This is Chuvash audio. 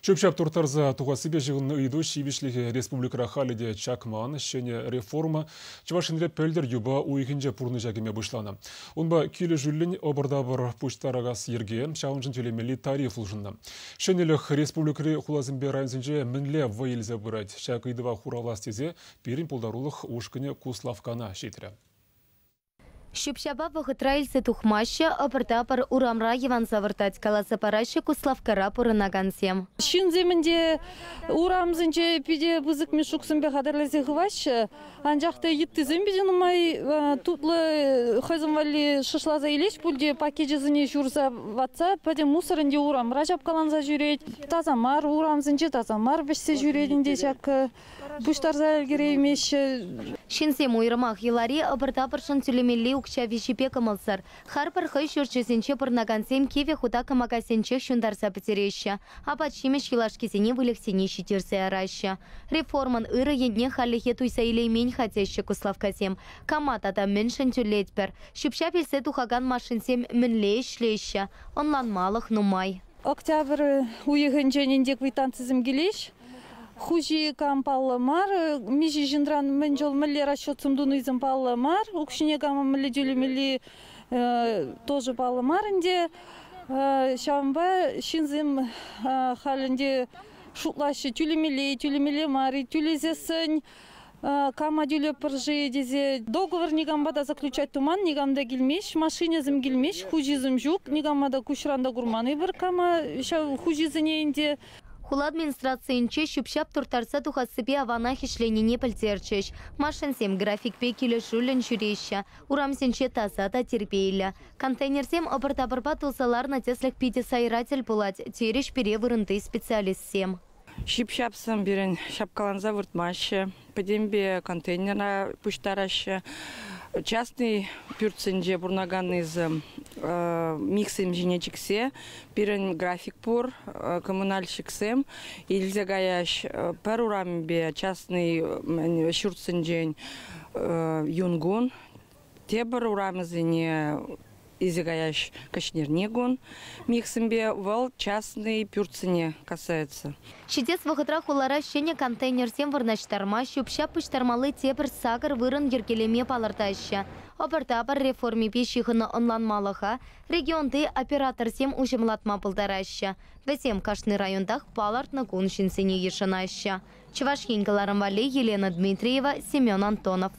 Ҫӳп-ҫап турттарса тухассипе ҫыхӑннӑ ыйту ҫивӗчлӗхӗ республикӑра халӗ те чакман. Ҫӗнӗ реформа Чӑваш Енре пӗлтӗр юпа уйӑхӗнче пурнӑҫа кӗме пуҫланӑ. Унпа килӗшӳллӗн ӑпӑр-тапӑр пуҫтаракас йӗрке, ҫавӑншӑн тӳлемелли тариф улшӑннӑ. Ҫӗнӗлӗх республикӑри хуласемпе районсенче мӗнле вӑй илсе пырать? Ҫак ыйтӑва хуравлас тесе пирӗн пултарулӑх ушкӑнӗ Куславккана ҫитрӗ. Ҫӳп-ҫапа вӑхӑтра илсе тухмаҫҫӗ, ӑпӑр-тапӑр урамра йӑванса выртать, каласа параҫҫӗ Куславккара пурӑнакансем. Ҫынсем ӗнтӗ урамсенче питӗ пысӑк мешуксемпе хатӗрлесе хываҫҫӗ, анчах та йыттисем питӗ нумай тутлӑ хӑйсем валли шӑршласа илеҫ пуль те пакечӗсене ҫурса ватса пӗтӗм мусор ӗнтӗ урамра ҫапкаланса ҫӳрет. Таса мар урамсенче таса мар вӗҫсе ҫӳрет ӗнтӗ ҫак пуҫтарса ӗлкӗреймеҫҫӗ. Ҫынсем уйрӑмах йӑлари ӑпӑр-тапӑршӑн тӳлемелли укҫа виҫипе кӑмӑлсӑр. Харпӑр хӑй ҫурчӗсенче пурӑнакансем кивӗ хута кӑмакасенчех ҫунтарса пӗтереҫҫӗ, апат-ҫимӗҫ юлашкисене выльӑхсене ҫитерсе яраҫҫӗ. Реформӑн ырӑ енне хальлӗхе туйса илеймен-ха теҫҫӗ куславккасем. Кама тата мӗншӗн тӳлетпӗр? Ҫӳп-ҫап илсе тухакан машинсем мӗнле ӗҫлеҫҫӗ? Ӑнланмалӑх нумай. Октябрь уйӑхӗнчен ӗнтӗ квитанцисем килеҫ. Хуҫи кам паллӑ мар, миҫе ҫынран мӗн чул мӗнле расчетсем тунисем паллӑ мар, укҫине кама мӗнле тӳлемелли тоже паллӑ мар ӗнтӗ. Ҫавӑнпа ҫынсем халь ӗнтӗ шутлаҫҫӗ, тӳлемелле-и, тӳлемелле мар-и, тӳлесессӗн кама тӳлӗпӗр-ши тесе договор никампа та заключать туман, никам та килмест, машинӑсем килмест, хуҫисем ҫук, никама та куҫран та курман эпир кама ҫав хуҫисене ӗнтӗ. Хула администрацийӗнче ҫӳп-ҫап турттарса тухассипе аванах ӗҫленине пӗлтерчӗҫ. Машинсем графикпе килӗшӳллӗн ҫӳреҫҫӗ. Урамсенче таса та тирпейлӗ. Контейнерсем ӑпӑр-тапӑрпа тулса ларнӑ тӗслӗх питӗ сайра тӗл пулать, терӗҫ пире вырӑнти специалистсем. Ҫӳп-ҫапсем пирӗн ҫапкаланса выртмаҫҫӗ, пӗтӗмпе контейнера пуҫтараҫҫӗ. Частный пӳртсенче пурӑнаканнисем михсем ҫине чиксе пирӗн график пур, коммунальщиксем илсе каяҫ пӗр урамӗпе частный ҫуртсенчен юнкун, тепӗр урамӗсене илсе каяҫ кӗҫнерни кун михсемпе вӑл частный пӳртсене касается. Ҫитес вӑхӑтра хулара ҫӗнӗ контейнерсем вырнаҫтарма, ҫӳп-ҫап пуҫтармалли тепӗр сакӑр вырӑн йӗркелеме палӑртаҫҫӗ. Ӑпӑр-тапӑр реформипе ҫыхӑннӑ ӑнланмалӑха регионти операторсем уҫӑмлатма пултараҫҫӗ. Вӗсем кашни районтах палӑртнӑ кун ҫынсене йышӑнаҫҫӗ. Чӑваш Ен кӑларӑм валли Елена Дмитриева, Семен Антонов.